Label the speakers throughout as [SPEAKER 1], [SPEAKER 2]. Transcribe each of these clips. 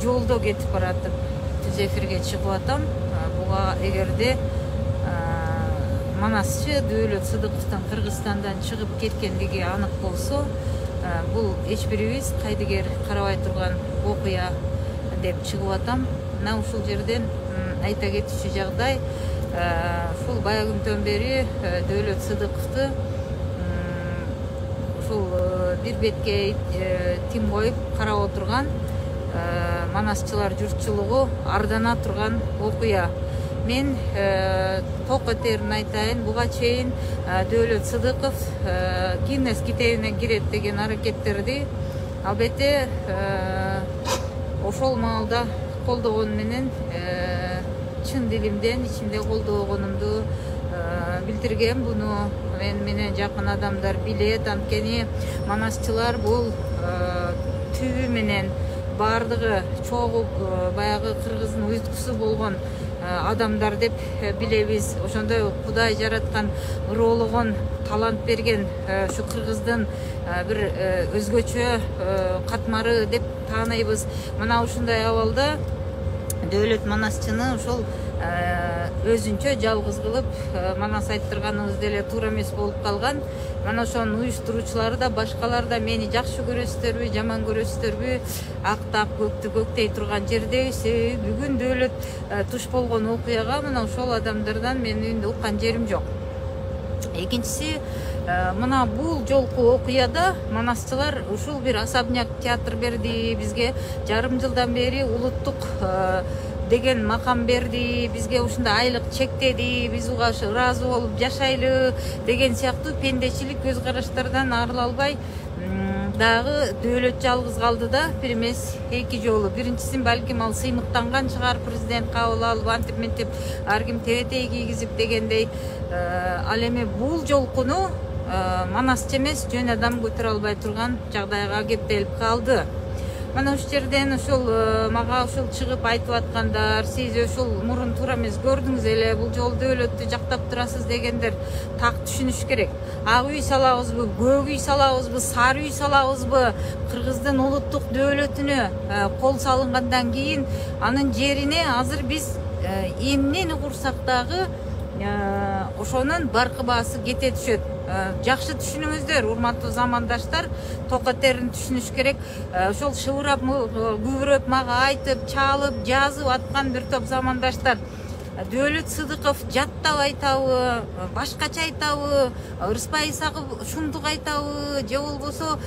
[SPEAKER 1] жолдо кетип баратып түз эфирге чыгып атам. Буга эгерде Манасчы Дөөлөт Сыдыковдун Кыргызстандан чыгып кеткендиги анык болсо, бул эч бирибиз кайдыгер карабай турган окуя деп чыгып атам. Мына ушул жерден айта кетчү жагдай, ушул бая күндөн бери Дөөлөт Сыдыковду ушул бир бетке тим коюп карап отурган манасчылар журтчулугу ардана турган окуя. Мен ток этерин айтайын, буга чейин Дөөлөт Сыдыков Гиннес китебине кирет деген аракеттерди албетте ошол маалда колдогон менен чын дилимден ичимде колдогонумду билдиргем. Буну мен менен жакын адамдар билет, анткени манасчылар бул түбү менен баардыгы чогуп баягы кыргыздын уйткусу болгон адамдар деп билебиз. Ошондой Кудай жараткан, ыроологон, талант берген ушу кыргыздын бир өзгөчө катмары деп тааныйбыз. Мына ушундай абалда Дөөлөт Манасчыны ошол өзүнчө жалгыз кылып манас айттырганыбыз деле туура эмес болуп калган. Мана ошонун уюштуруучулары да, башкалар да мени жакшы көрөсүздөрбү, жаман көрөсүздөрбү, акты ак, көктү көктөй турган жердебиз. Бүгүн Дөөлөт туш болгон окуяга мына ошол адамдардан мен уккан жерим жок. Экинчиси, мына бул жолку окуяда манасчылар ушул бир особняк театр берди бизге, жарым жылдан бери улуттук деген макам берди бизге, ушундай айлык чектеди, биз буга ыраазы болуп жашайлы деген сыяктуу пендечилик көз караштардан арыла албай дагы Дөөлөт жалгыз калды да, бир эмес эки жолу. Биринчисин балким ал сыймыктанган чыгар, президент кабыл алып антип мынтип ар ким тебетей кийгизип дегендей. Ал эми бул жолкуну манасчы эмес жөн адам көтөрө албай турган жагдайга кептелип калды. Мана ушул жерден ушул мага ушул чыгып айтып аткандар, сиз ушул мурун туура эмес көрдүңүз эле, бул жолу Дөөлөттү жактап турасыз дегендер так түшүнүш керек. Ак үй салабызбы, көк үй салабызбы, сары үй салабызбы, кыргыздын улуттук дөөлөтүнө кол салынгандан кийин анын жерине азыр биз эмнени курсак дагы ошонун баркы баасы кете түшөт. Жакшы түшүнүңүздөр, урматтуу замандаштар, ток этерин түшүнүш керек. Ошол шыбырап, күбүрөп, мага айтып, чалып, жазып аткан бир топ замандаштар Дөөлөт Сыдыков жаттап айтабы, башкача айтабы, Ырыспай Исаков шумдук айтабы, же болбосо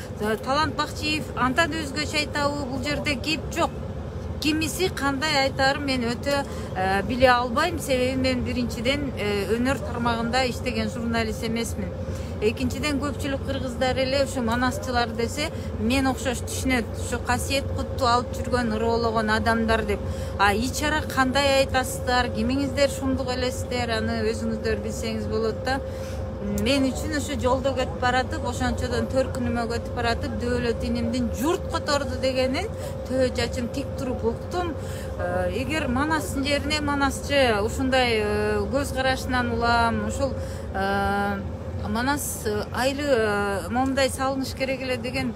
[SPEAKER 1] Талант Бакчиев андан өзгөчө айтабы, бул жерде кеп жок. Кимиси кандай айтарын мен өтө биле албайм, себеби мен биринчиден өнөр тармагында иштеген журналист эмесмин. Экинчиден көпчүлүк кыргыздар эле ушу манасчылар десе мен окшош түшүнөт, ушу касиет кутту алып жүргөн, ыроологон адамдар деп. Ичара кандай айтасыздар, кимиңиздер шумдук элесиздер, аны өзүңүздөр билсеңиз болот да. Мен үчүн ушу жолдо кетип баратып, ошончодон төркүнүмө кетип баратып, Дөөлөт инимдин журт которду дегенин төө чачым тик туруп уктум. Эгер манастын жерине манасчы ушундай көз карашынан улам, ушул манас айлы момундай салыныш керек эле деген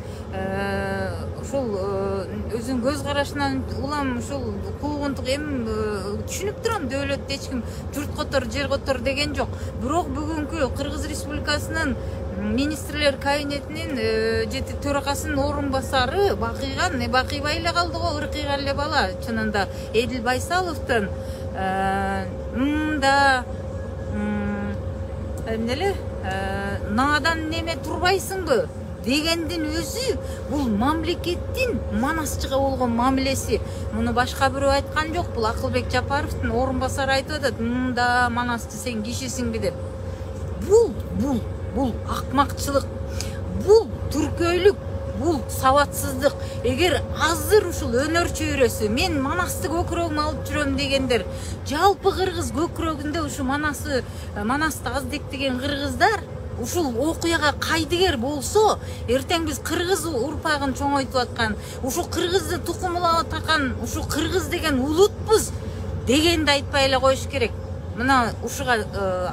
[SPEAKER 1] ушул өзүнүн көз карашынан улам, ушул куугунтук эми түшүнүп турам. Дөөлөттө эч ким журт котор, жер котор деген жок. Бирок бүгүнкү Кыргыз Республикасынын министрлер кабинетинин жети төрагасынын орун басары бакыйбай эле калды го, ыркыйган эле бала чынында. Эдил Байсаловдун да эмнеле наадан неме турбайсыңбы дегендин өзү бул мамлекеттин манасчыга болгон мамилеси. Муну башка бирөө айткан жок, бул Акылбек Жапаровдун орун басары айтып атат, да манасчы сен кишисиңби деп. Бул акмакчылык, бул түркөйлүк, бул сабатсыздык. Эгер азыр ушул өнөр чөйрөсү мен манасты көкүрөгүмө алып жүрөм дегендер, жалпы кыргыз көкүрөгүндө ушу манасты аздектеген кыргыздар ушул окуяга кайдыгер болсо, эртең биз кыргыз урпагын чоңойтуп аткан, ушу кыргызды тукумулап аткан, ушу кыргыз деген улутпуз дегенди айтпай эле коюш керек. мына ушуга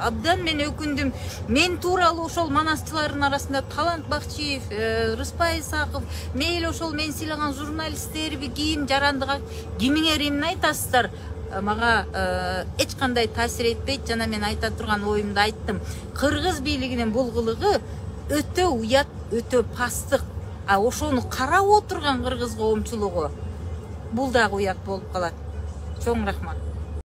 [SPEAKER 1] абдан мен өкүндүм. Мен тууралуу ошол манастылардын арасында Талант Бакчиев, Рыспай Исаков, мейли ошол мен сыйлаган журналисттерби, кийин жарандыга кимиңер эмне айтасыздар? Мага эч кандай таасир этпейт. Жана мен айта турган оюмду айттым. Кыргыз бийлигинин бул кылыгы өтө уят, өтө пастык. А ошону карап отурган кыргыз коомчулугу бул дагы уят болуп калат. Чоң рахмат.